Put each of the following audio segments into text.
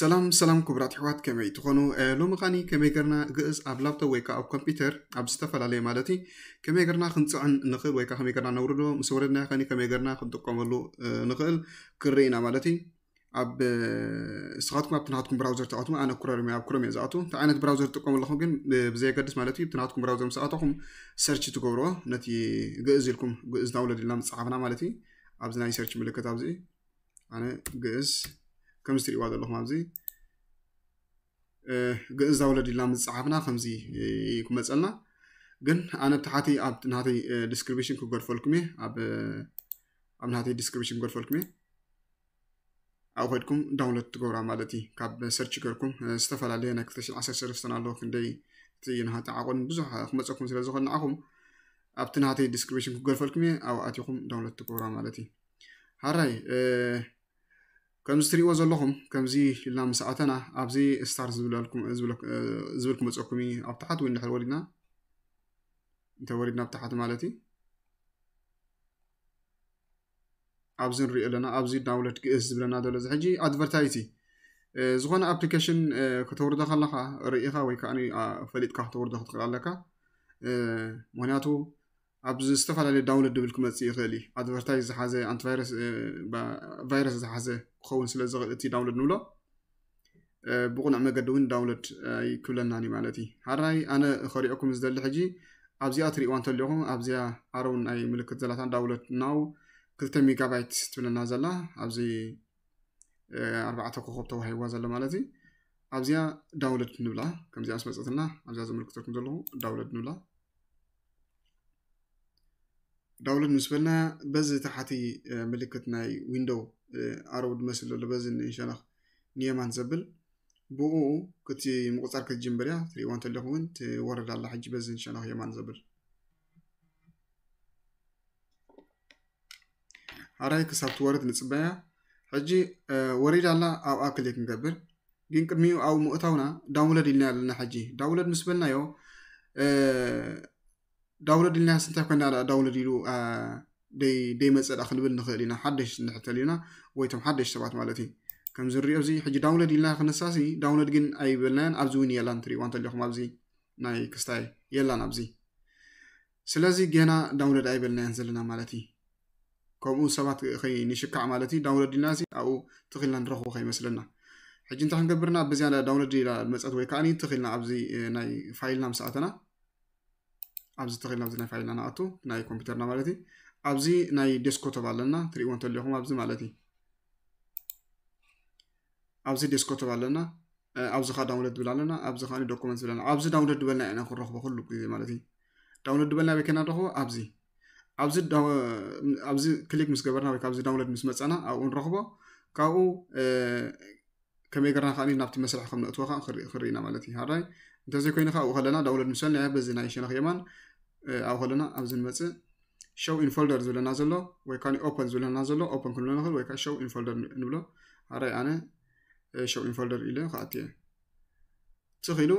ሰላም ሰላም ክቡራት ኣሕዋት፣ ከመይ ትኾኑ? ሎሚ ኸኒ ከመይ ገርና ግእዝ ኣብ ላፕቶፕ ወይ ከዓ ኣብ ኮምፒውተር ኣብ ዝተፈላለየ ማለት እዩ ከመይ ገርና ክንፅዕን ንኽእል ወይ ከዓ ከመይ ገርና ነውርዶ፣ ምስ ወረድና ኸኒ ከመይ ገርና ክንጥቀመሉ ንኽእል ክንርኢ ኢና ማለት እዩ። ኣብ ስኻትኩም ኣብቲ ናትኩም ብራውዘር ተኣትሙ፣ ኣነ ክሮም ኣብ ክሮም እየ ዝኣቱ። እንታይ ዓይነት ብራውዘር ትጥቀሙ ኣለኹም ግን ብዘየገድስ ማለት እዩ። ብቲ ናትኩም ብራውዘር ምስ ኣተኹም ሰርች ትገብርዎ፣ ነቲ ግእዝ ኢልኩም፣ ግእዝ ዳውንሎድ ኢልና ምፅሓፍና ማለት እዩ። ኣብዚ ናይ ሰርች ምልክት ኣብዚ ኣነ ግእዝ ከምዚ ትሪእዋ ዘለኹም ኣብዚ ግእዝ ዳውንሎድ ኢልና ምፅሓፍና ከምዚ ክመፀልና። ግን ኣነ ብታሕቲ ኣብ ናተይ ዲስክሪፕሽን ክገድፈልኩም እየ፣ ኣብ ኣብ ናተይ ዲስክሪፕሽን ክገድፈልኩም እየ። ኣብኡ ከድኩም ዳውንሎድ ትገብራ ማለት እዩ። ካብ ሰርች ገርኩም ዝተፈላለየ ናይ ክልተ ሽሕን ዓሰርተ ሰለስተን ኣሎ፣ ክንደይ እቲ ናሃቲ ዓቆን ብዙሕ ክመፀኩም ስለ ዝኽእል ንዓኹም ኣብቲ ናተይ ዲስክሪፕሽን ክገድፈልኩም እየ፣ ኣብኡ ኣቲኹም ዳውንሎድ ትገብራ ማለት እዩ። ሃራይ ከምዚ ትሪእዎ ዘለኹም ከምዚ ኢልና ምስ ኣተና ኣብዚ ስታር ዝብል ክመፀኩም እዩ። ኣብ ታሓት ወይ እንድሕር ወሪድና እንተ ወሪድና ኣብ ታሓት ማለት እዩ። ኣብዚ ንሪኦ ኣለና፣ ኣብዚ ዳውንሎድ ግእዝ ዝብለና ዘሎ እዚ ሕጂ ኣድቨርታይዝ እዩ። ዝኾነ ኣፕሊኬሽን ከተውርዶ ከለኻ ርኢኻ ወይ ከዓ ፈሊጥካ ከተውርዶ ክትኽእል ኣለካ። ምክንያቱ ኣብዚ ዝተፈላለዩ ዳውንሎድ ድብል ክመፅእ ይኽእል እዩ። ኣድቨርታይዝ ዝሓዘ፣ ኣንቲቫይረስ ቫይረስ ዝሓዘ ክኸውን ስለ ዝኽእል እቲ ዳውንሎድ ንብሎ ብቑኑዕ መገዲ እውን ዳውንሎድ ኣይክብለናን እዩ ማለት እዩ። ሃራይ ኣነ ከሪኦኩም ዝደሊ ሕጂ ኣብዚኣ ትሪእዋ እንተለኹም ኣብዚኣ ኣረው ናይ ምልክት ዘላታን ዳውንሎድ ናው ክልተ ሜጋባይት ትብለና ዘላ ኣብዚ ኣርባዕተ ኮኸብ ተዋሂብዋ ዘሎ ማለት እዩ። ኣብዚኣ ዳውንሎድ ንብላ። ከምዚኣ ምስ መፀትና ኣብዚኣ ዘመልክተኩም ዘለኹ ዳውንሎድ ንብላ። ዳውንሎድ ምስ በልና በዚ ታሕቲ ምልክት ናይ ዊንዶው ኣረው ዝመስል ዘሎ በዚ ንሸነኽ ንየማን ዘብል ብኡ ክቲ ምቁፃር ክትጅምር እያ። ትሪእዋ እንተለኹም እውን ትወርድ ኣላ ሕጂ በዚ ንሸነኽ የማን ዘብል። ኣራይ ክሳብ ትወርድ ንፅበያ። ሕጂ ወሪዳ ኣላ፣ ኣብኣ ክሊክ ንገብር። ግን ቅድሚኡ ኣብኡ ምእታውና ዳውንሎድ ኢልና ኣለና። ሕጂ ዳውንሎድ ምስ በልናዮ ዳውንሎድ ኢልና ስንታይ ኮይና ዳውንሎድ ኢሉ ደይመፀ ዳ ክንብል ንኽእል ኢና፣ ሓደሽ ንሕተል ኢና ወይ ቶም ሓደሽ ሰባት ማለት እዩ። ከምዚ ንሪኦ እዚ ሕጂ ዳውንሎድ ኢልና ክንሳሲ ዳውንሎድ ግን ኣይበልናያን። ኣብዚ እውን የላን፣ ትሪእዋ እንተለኹም ኣብዚ ናይ ክስታይ የላን ኣብዚ። ስለዚ ጌና ዳውንሎድ ኣይበልናያን ዘለና ማለት እዩ። ከምኡ ሰባት ከይንሽካዕ ማለት እዩ። ዳውንሎድ ኢልና እዚ ኣብኡ ትኽልና ንረኽቦ ከይመስለና። ሕጂ እንታይ ክንገብርና ብዝያዳ ዳውንሎድ ኢላ መፀት ወይ ከዓ ትኽልና ኣብዚ ናይ ፋይልና ምስ ኣተና ኣብዚ ተኺልና ኣብዚ ናይ ፋይልና ንኣቱ ናይ ኮምፒውተርና ማለት እዩ። ኣብዚ ናይ ዴስኮቶፕ ኣለና ትሪእዎ እንተለኹም ኣብዚ ማለት እዩ። ኣብዚ ዴስኮቶፕ ኣለና፣ ኣብዚ ካ ዳውንሎድ ድብል ኣለና፣ ኣብዚ ካ ዶኩመንት ዝብለና ኣብዚ ዳውንሎድ ድበልና ኢና ክንረኽቦ ኩሉ ግዜ ማለት እዩ። ዳውንሎድ ድበልና በይ ከና ንረኽቦ ኣብዚ ኣብዚ ክሊክ ምስ ገበርና ወይ ካብዚ ዳውንሎድ ምስ መፀና ኣብኡ ንረኽቦ። ካብኡ ከመይ ገርና ከኣ ናብቲ መስርሕ ከም ነእትዎ ከኣ ክንርኢ ኢና ማለት እዩ። ሃራይ እንተዘይኮይኑ ከኣ ኣብኡ ከለና ዳውንሎድ ምስ በልና በዚ ናይ ሸነኽ የማን ኣብኡ ከለና ኣብዚ ንመጽእ ሾው ኢን ፎልደር ዝብለና ዘሎ ወይ ከዓ ኦፐን ዝብለና ዘሎ ኦፐን ክንብሎ ንኽእል ወይ ከዓ ሾው ኢን ፎልደር ንብሎ። ሃራይ ኣነ ሾው ኢን ፎልደር ኢለ ክኣቱ እየ። ትኽ ኢሉ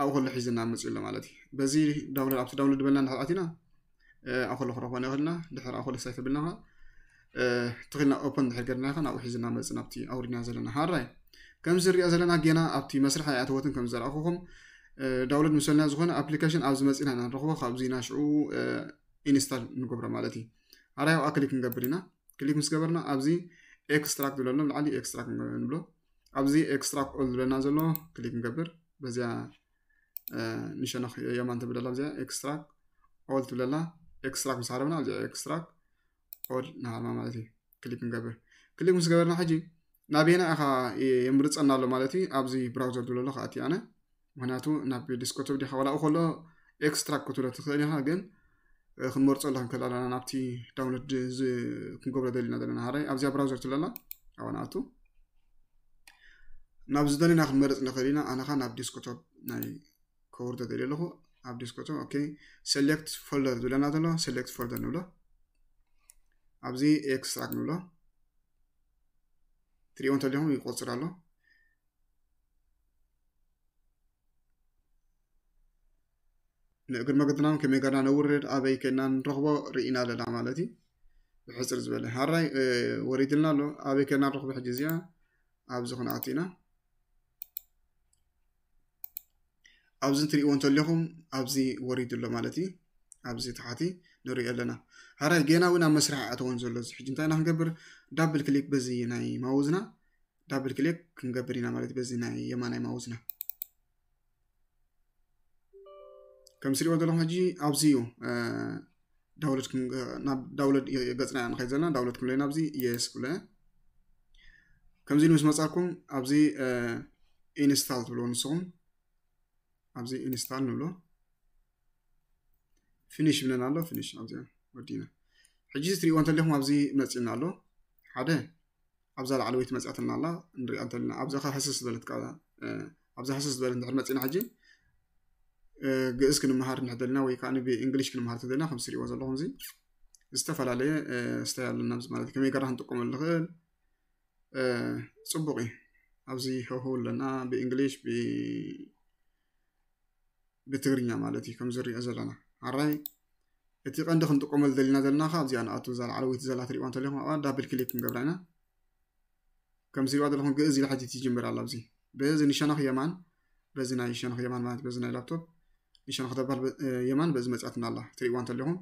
ኣብኡ ከሎ ሒዝና መጽኡ ኣሎ ማለት እዩ። በዚ ዳውንሎድ ኣብቲ ዳውንሎድ ዝበልና እንድሕር ኣቲና ኣብኡ ከሎ ክረኽቦ ንኽእል ኢና። ድሕር ኣብኡ ከሎ ሳይ ተብልና ትኽልና ኦፐን ድሕር ገርና ከ ናብኡ ሒዝና መጽእ ናብቲ ኣውሪድና ዘለና ሃራይ ከምዚ ንሪኦ ዘለና ጌና ኣብቲ መስርሕ ኣይኣተወትን ከም ዘርኣኹኹም ዳውንሎድ ምስ በልና ዝኾነ ኣፕሊኬሽን ኣብዚ መጺና ኢና ንረኽቦ ካብዚ ናሽዑ ኢንስታል ንገብሮ ማለት እዩ። ሃራይ ኣብኣ ክሊክ ንገብር ኢና። ክሊክ ምስ ገበርና ኣብዚ ኤክስትራክት ዝብለሎ ላዕሊ ኤክስትራክት ንብሎ። ኣብዚ ኤክስትራክት ኦል ዝብለና ዘሎ ክሊክ ንገብር። በዚኣ ንሸነኽ የማን ትብለላ እዚኣ ኤክስትራክት ኦል ትብለላ። ኤክስትራክት ምስ ሃረምና እዚኣ ኤክስትራክት ኦል ንሃርማ ማለት እዩ። ክሊክ ንገብር። ክሊክ ምስ ገበርና ሕጂ ናበየና ኢኻ የምርፀና ኣሎ ማለት እዩ። ኣብዚ ብራውዘር ዝብለሎ ከኣቲ ኣነ ምክንያቱ ናብ ዲስኮቶፕ ዲኻ ዋላ ከሎ ኤክስትራክት ክትብሎ ትኽእል ኢኻ ግን ክንመርፆ ኣለካ ከለና ናብቲ ዳውንሎድ ክንገብሮ ደሊና ዘለና ሃራይ ኣብዚኣ ብራውዘር ትብለላ ኣብኣ ንኣቱ ናብ ዝደለና ክንመርፅ ንኽእል ኢና። ኣነኻ ናብ ዲስኮቶፕ ናይ ከውርዶ ደልየ ኣለኹ። ኣብ ዲስኮቶፕ ኦኬ ሴሌክት ፎልደር ዝብለና ዘሎ ሴሌክት ፎልደር ንብሎ። ኣብዚ ኤክስትራክት ንብሎ። ትሪእዎ እንተለኹም ይቆፅር ኣሎ። ንእግሪ መገድና ከመይ ገርና ነውርድ ኣበይ ከና ንረኽቦ ርኢና ኣለና ማለት እዩ። ብሕፅር ዝበለ ሃራይ ወሪድልና ኣሎ። ኣበይ ከና ንረኽቦ ሕጂ እዚኣ ኣብዚ ክንኣቱ ኢና። ኣብዚ ትሪእዎ እንተለኹም ኣብዚ ወሪዱ ኣሎ ማለት እዩ። ኣብዚ ታሕቲ ንሪኦ ኣለና። ሓራይ ገና እውን ኣብ መስርሕ ኣተወን ዘሎ። እዚ ሕጂ እንታይ ኢና ክንገብር? ዳብል ክሊክ በዚ ናይ ማውዝና ዳብል ክሊክ ክንገብር ኢና ማለት እዩ። በዚ ናይ የማናይ ማውዝና ከም ስሪኦ ዘለኹም ሕጂ ኣብዚ እዩ ዳውንሎድ ናብ ዳውንሎድ ገፅና ንኸይድ ዘለና ዳውንሎድ ክንብሎ ኢና ኣብዚ የስ ክብሎ። ከምዚ ምስ መፃኩም ኣብዚ ኢንስታል ትብልዎ ንስኹም። ኣብዚ ኢንስታል ንብሎ። ፊኒሽ ብለና ኣሎ። ፊኒሽ ኣብዚ ወዲና። ሕጂ ትሪእዎ እንተለኹም ኣብዚ መፂና ኣሎ። ሓደ ኣብዛ ላዕለወይቲ መፅኣትና ኣላ ንሪኣ እንተለና። ኣብዛ ኸ ህስስ ዝበለት ቃ ኣብዛ ህስስ ዝበለት እንድሕር መፂና ሕጂ ግእዝ ክንመሃር እንድሕር ደልና ወይ ከዓ ብእንግሊሽ ክንመሃር እንተደልና ከም ትሪእዎ ዘለኹም እዚ ዝተፈላለየ ስታይ ኣለና ኣብዚ ማለት እዩ። ከመይ ገርና ክንጥቀመሉ ንኽእል ፅቡቅ እዩ። ኣብዚ ህውህው ኣለና ብእንግሊሽ ብትግርኛ ማለት እዩ። ከም ዝሪኦ ዘለና ሓራይ እቲ ቀንዲ ክንጥቀመሉ ደሊና ዘለና ከ ኣብዚኣ ንኣቱ እዛ ላዕለወይቲ ዘላ ትሪእዋ እንተለኹም ኣብኣ ዳብል ክሊክ ክንገብራ ኢና። ከም ዝሪእዋ ዘለኹም ግእዝ ኢላ ሕጂ ትጅምር ኣላ ኣብዚ በዚ ንሸነኽ የማን በዚ ናይ ሸነኽ የማን ማለት በዚ ናይ ላፕቶፕ ንሸነኽ ተባል የማን በዚ መፅኣትና ኣላ ትሪእዋ እንተለኹም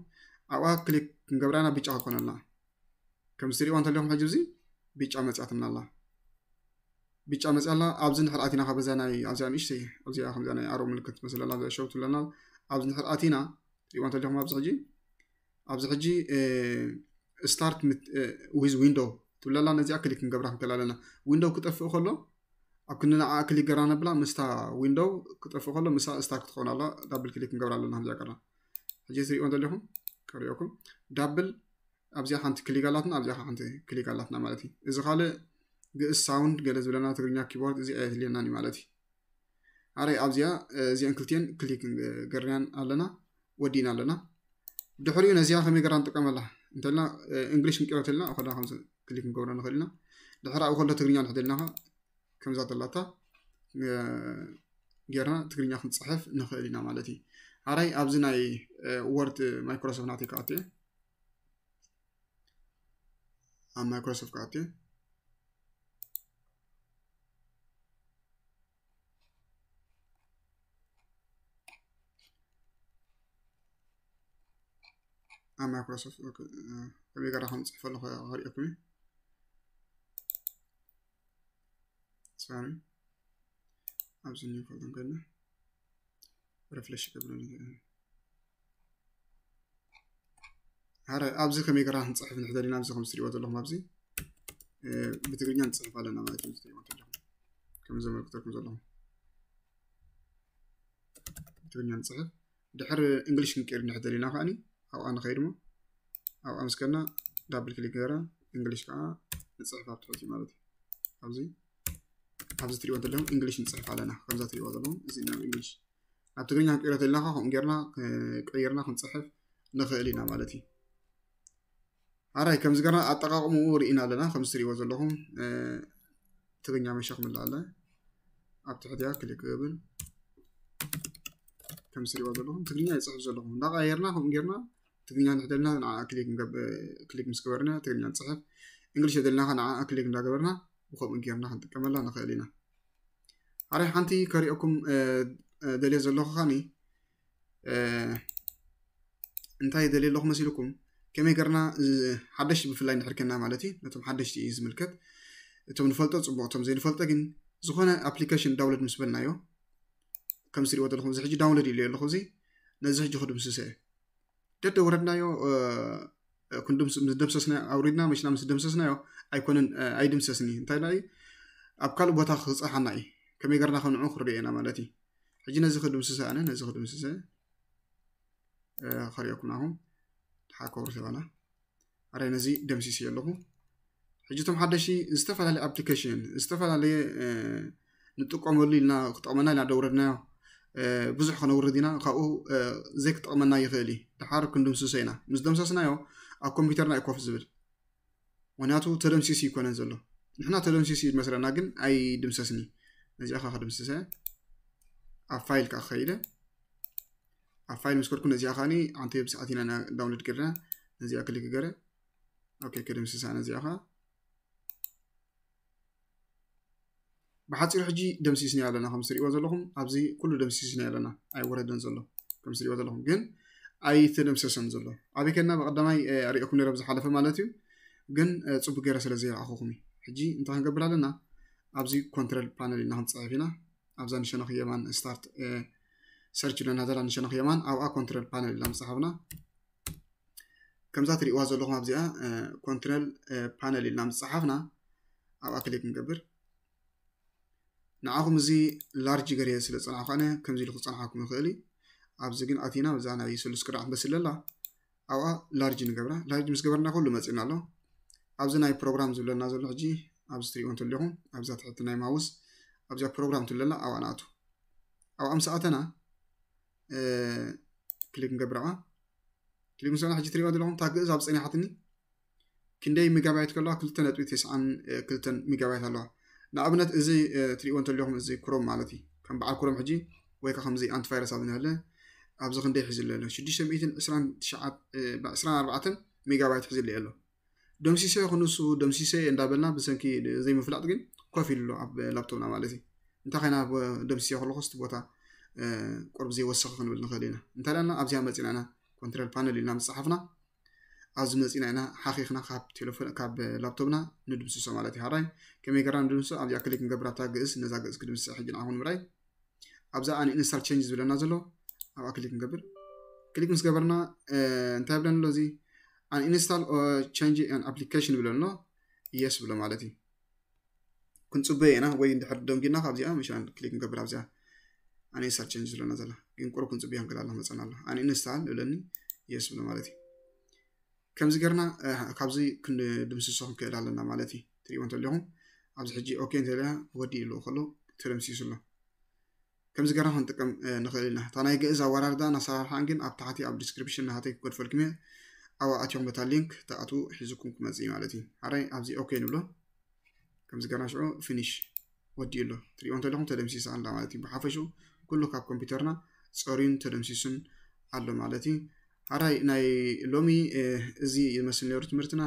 ኣብኣ ክሊክ ክንገብራ ኢና ብጫ ክኮነልና። ከም ዝሪእዋ እንተለኹም ሕጂ እዚ ብጫ መፅኣትና ኣላ። ብጫ መፅኣ ኣላ። ኣብዚ ንድሕር ኣቲና ካብ በዛ ናይ ኣብዚኣ ንእሽተይ ኣብዚኣ ከምዚኣ ናይ ኣሮ ምልክት ትመስል ኣላ ኣብዚኣ ሸው ትብለና። ኣብዚ ንድሕር ኣቲና ትሪእዋ እንተለኹም ኣብዚ ሕጂ ኣብዚ ሕጂ start with window ትብለላ ነዚኣ ክሊክ ክንገብራ ክንክእል ኣለና። ዊንዶው ክጠፍእ ከሎ ኣብ ክንዲ ንዓ ክሊክ ገራ ነብላ ምስታ ዊንዶው ክጠፍእ ከሎ ምሳ ስታርት ክትኸውን ኣላ ዳብል ክሊክ ክንገብራ ኣለና። ከምዚኣ ገርና ሕጂ ትሪእዎ እንተለኹም ከሪኦኩም ዳብል ኣብዚኣ ሓንቲ ክሊክ ኣላትና ኣብዚኣ ሓንቲ ክሊክ ኣላትና ማለት እዩ። እዚ ካልእ ግእዝ ሳውንድ ገለ ዝብለና ትግርኛ ኪቦርድ እዚ ኣየድልየናን እዩ ማለት እዩ። ኣረይ ኣብዚኣ እዚአን ክልቲአን ክሊክ ገርናን ኣለና ወዲእና ኣለና። ድሕሪኡ ነዚኣ ከመይ ገርና ንጥቀመላ እንተልና እንግሊሽ ክንቅይሮ ተልና ከላ ከም ክሊክ ክንገብሮ ንኽእል ኢና። ድሕሪ ኣብኡ ከሎ ትግርኛ ንሕደልና ከምዛ ተላታ ጌርና ትግርኛ ክንፅሕፍ ንኽእል ኢና ማለት እዩ። ኣራይ ኣብዚ ናይ ወርድ ማይክሮሶፍት ናተይ ክኣቱ እየ። ኣብ ማይክሮሶፍት ክኣቱ እየ። ኣብ ማይክሮሶፍት ከመይ ገራ ከም ፅሕፈሉ ከሪእኩም እዩ። ሶሪ ኣብዚ ኒው ፎልደር ከድና ሪፍሬሽ ገብረሉ። ሓደ ኣብዚ ከመይ ገራ ክንፅሕፍ ንሕደል ኢና። ኣብዚ ከም ትሪእዎ ዘለኹም ኣብዚ ብትግርኛ ንፅሕፍ ኣለና ማለት እዩ። ትሪእዎ ዘለኹም ከም ዘመልክተኩም ዘለኹም ብትግርኛ ንፅሕፍ። ድሕር እንግሊሽ ክንቀይር ንሕደል ኢና ከዓኒ ኣብኣ ንኸይድ ሞ ኣብኣ ምስ ከድና ዳብል ክሊክ ገራ እንግሊሽ ከዓ ንፅሕፍ ኣብ ትሕቲ ማለት እዩ። ኣብዚ ኣብዚ ትሪእዎ ዘለኹም እንግሊሽ ንፅሕፍ ኣለና። ከምዛ ትሪእዎ ዘለኹም እዚ ናብ እንግሊሽ ናብ ትግርኛ ክንቀይሮ ተለና ከምኡ ጌርና ቀይርና ክንፅሕፍ ንኽእል ኢና ማለት እዩ። ኣራይ ከምዚ ገርና ኣጠቃቅምኡ ርኢና ኣለና። ከምዚ ትሪእዎ ዘለኹም ትግርኛ መሸኽ ምላ ኣለ ኣብ ትሕቲያ ክሊክ ክብል ከምዚ ትሪእዎ ዘለኹም ትግርኛ ይፅሕፍ ዘለኹም እንዳቀያየርና ከምኡ ጌርና ትግርኛ እንድሕደልና ንዓ ክሊክ ምስ ገበርና ትግርኛ ንፅሕፍ። እንግሊሽ የደልና ከ ንዓ ክሊክ እንዳገበርና ብከምኡ ጌርና ክንጥቀመላ ንኽእል ኢና። ኣራይ ሓንቲ ከሪኦኩም ደልየ ዘለኹ ኻኒ እንታይ ደልየ ኣለኹ መሲልኩም ከመይ ገርና ሓደሽቲ ብፍላይ ንሕርከና ማለት እዩ። ነቶም ሓደሽቲ እዩ ዝምልከት። እቶም ንፈልጦ ፅቡቅ እቶም ዘይንፈልጦ ግን ዝኾነ ኣፕሊኬሽን ዳውንሎድ ምስ በልናዮ ከም ስሪእዎ ዘለኹም እዚ ሕጂ ዳውንሎድ ኢሉ ኣለኹ እዚ ነዚ ሕጂ ክድምስሰ ደደ ወረድናዮ ክንድምስ ምስ ደምሰስና ኣውሪድና መሽና ምስ ደምሰስናዮ ኣይኮነን ኣይድምሰስኒ እንታይ ላ ኣብ ካልእ ቦታ ክፀሓና እዩ። ከመይ ገርና ክንዑ ክርድኦ ኢና ማለት እዩ። ሕጂ ነዚ ክድምስሰ ኣነ ነዚ ክድምስሰ ከሪኦኩም ናኹም ሓከብሩ ተባና ኣረ ነዚ ደምሲስ ኣለኹ። ሕጂ እቶም ሓደሽቲ ዝተፈላለየ ኣፕሊኬሽን ዝተፈላለየ ንጥቀመሉ ኢልና ክጠቕመና ኢልና ደውረድናዮ ብዙሕ ከነውርድ ኢና። ካብኡ ዘይክጠቕመና ይኽእል እዩ። ድሓር ክንድምስሶ ኢና። ምስ ደምሰስናዮ ኣብ ኮምፒውተርና እዩ ኮፍ ዝብል። ምክንያቱ ተደምሲሱ ይኮነን ዘሎ። ንሕና ተደምሲሱ ይመስለና ግን ኣይድምሰስኒ። ነዚኣ ከዓ ክድምስሰ ኣብ ፋይል ከዓ ክኸይደ ኣብ ፋይል ምስ ከድኩ ነዚኣ ከዓኒ ሓንቲ ብሰዓት ኢና ዳውንሎድ ገርና ነዚኣ ክሊክ ገረ ኦኬ ክድምስሳ ነዚኣ ከዓ ብሓፂሩ ሕጂ ደምሲስና ኣለና። ከም ትሪእዎ ዘለኹም ኣብዚ ኩሉ ደምሲስና ኣለና። ኣይወረደን ዘሎ ከም ትሪእዎ ዘለኹም፣ ግን ኣይተደምሰሰን ዘሎ። ኣበይ ከና ብቐዳማይ ኣሪእኩም ነረ ዝሓለፈ ማለት እዩ፣ ግን ፅቡቅ ገይረ ስለ ዘይረኣኹኹም እዩ። ሕጂ እንታይ ክንገብር ኣለና? ኣብዚ ኮንትረል ፓነል ኢልና ክንፅሕፍ ኢና። ኣብዛ ንሸነኽ የማን ስታርት ሰርች ኢለና ዘላ ንሸነኽ የማን ኣብኣ ኮንትረል ፓነል ኢልና ምፅሓፍና ከምዛ ትሪእዋ ዘለኹም ኣብዚኣ ኮንትረል ፓነል ኢልና ምፅሓፍና ኣብኣ ክሊክ ንገብር። ንዓኹም እዚ ላርጅ ገርየ ስለ ዝፀናሕኩ ኣነ ከምዚ ኢሉ ክፀናሓኩም ይኽእል እዩ። ኣብዚ ግን ኣቲና እዛ ናይ ስሉስ ክራዕ ትመስል ኣላ ኣብኣ ላርጅ ንገብራ። ላርጅ ምስ ገበርና ኩሉ መፂና ኣሎ። ኣብዚ ናይ ፕሮግራም ዝብለና ዘሎ ሕጂ ኣብዚ ትሪእዎ እንተለኹም ኣብዛ ትሕቲ ናይ ማውስ ኣብዚኣ ፕሮግራም ትብለና ኣብኣ ንኣቱ። ኣብኣ ምስ ኣተና ክሊክ ንገብር ኣብኣ። ክሊክ ምስ በልና ሕጂ ትሪእዎ ዘለኹም እታ ግእዝ ኣብ ፀኒሓትኒ ክንደይ ሜጋባይት ከለዋ ክልተ ነጥቢ ተስዓን ክልተን ሜጋባይት ኣለዋ። ንኣብነት እዚ ትሪእዎ እንተለኹም እዚ ክሮም ማለት እዩ። ከም በዓል ክሮም ሕጂ ወይ ከዓ ከምዚ ኣንቲቫይረስ ኣብ ንህለ ኣብዚ ክንደይ ሒዝለ ኣሎ ሽዱሽተ ሚእትን ዕስራን ትሽዓን ዕስራን ኣርባዕተን ሜጋባይት ሒዝለ ኣሎ። ደምሲሰ ክንሱ ደምሲሰ እንዳበልና ብሰንኪ ዘይምፍላጥ ግን ኮፍ ኢሉ ኣሎ ኣብ ላፕቶፕና ማለት እዩ። እንታይ ኮይና ደምሲሰ ከለኹ ስቲ ቦታ ቁርብ ዘይወሰኸ ክንብል ንኽእል ኢና። እንታይ ደኣና ኣብዚኣ መፂና ኢና ኮንትረል ፓነል ኢልና ምፅሓፍና ኣብዚ መፂና ኢና ሓኺኽና ካብ ቴሌፎን ካብ ላፕቶፕና ንድምስሶ ማለት እዩ። ሓራይ ከመይ ገርና ንድምስሶ ኣብዚኣ ክሊክ ንገብር ኣብታ ግእዝ ነዛ ግእዝ ክድምስሳ ሕጂ ንዓኹም ንምርኣይ ኣብዛ ኣን ኢንስታል ቸንጅ ዝብለና ዘሎ ኣብኣ ክሊክ ንገብር። ክሊክ ምስ ገበርና እንታይ ብለና ኣሎ እዚ ኣን ኢንስታል ቸንጅ ኣን ኣፕሊኬሽን ብለና ኣሎ የስ ብሎ ማለት እዩ። ክንፅበዮ ኢና ወይ እንድሕር ደንጊና ካብዚኣ ምሻን ክሊክ ንገብር ኣብዚኣ ኣን ኢንስታል ቸንጅ ዝብለና ዘላ ግን ቁሩብ ክንፅበዮ ክንክእል ኣሎ መፀና ኣሎ ኣን ኢንስታል ይብለኒ የስ ብሎ ማለት እዩ። ከምዚ ገርና ካብዚ ክንድምስሶ ክንክእል ኣለና ማለት እዩ። ትሪእዎ እንተለኹም ኣብዚ ሕጂ ኦኬ እንተለና ወዲ ኢሉ ከሎ ተደምሲሱ ኣሎ። ከምዚ ገርና ክንጥቀም ንኽእል ኢና። እታ ናይ ግእዝ ኣወራርዳ ናሰራርሓን ግን ኣብ ታሕቲ ኣብ ዲስክሪፕሽን ናሃተይ ክገድፈልኩም እየ። ኣብኣ ኣትኹም በታ ሊንክ ተኣትዉ ሒዝኩም ክመፅእ እዩ ማለት እዩ። ሓራይ ኣብዚ ኦኬ ንብሎ። ከምዚ ገርና ሽዑ ፊኒሽ ወዲኡ ኣሎ። ትሪእዎ እንተለኹም ተደምሲሳ ኣላ ማለት እዩ። ብሓፈሽኡ ኩሉ ካብ ኮምፒውተርና ፀርዩን ተደምሲሱን ኣሎ ማለት እዩ። ሓራይ ናይ ሎሚ እዚ ይመስል ነይሩ ትምህርትና።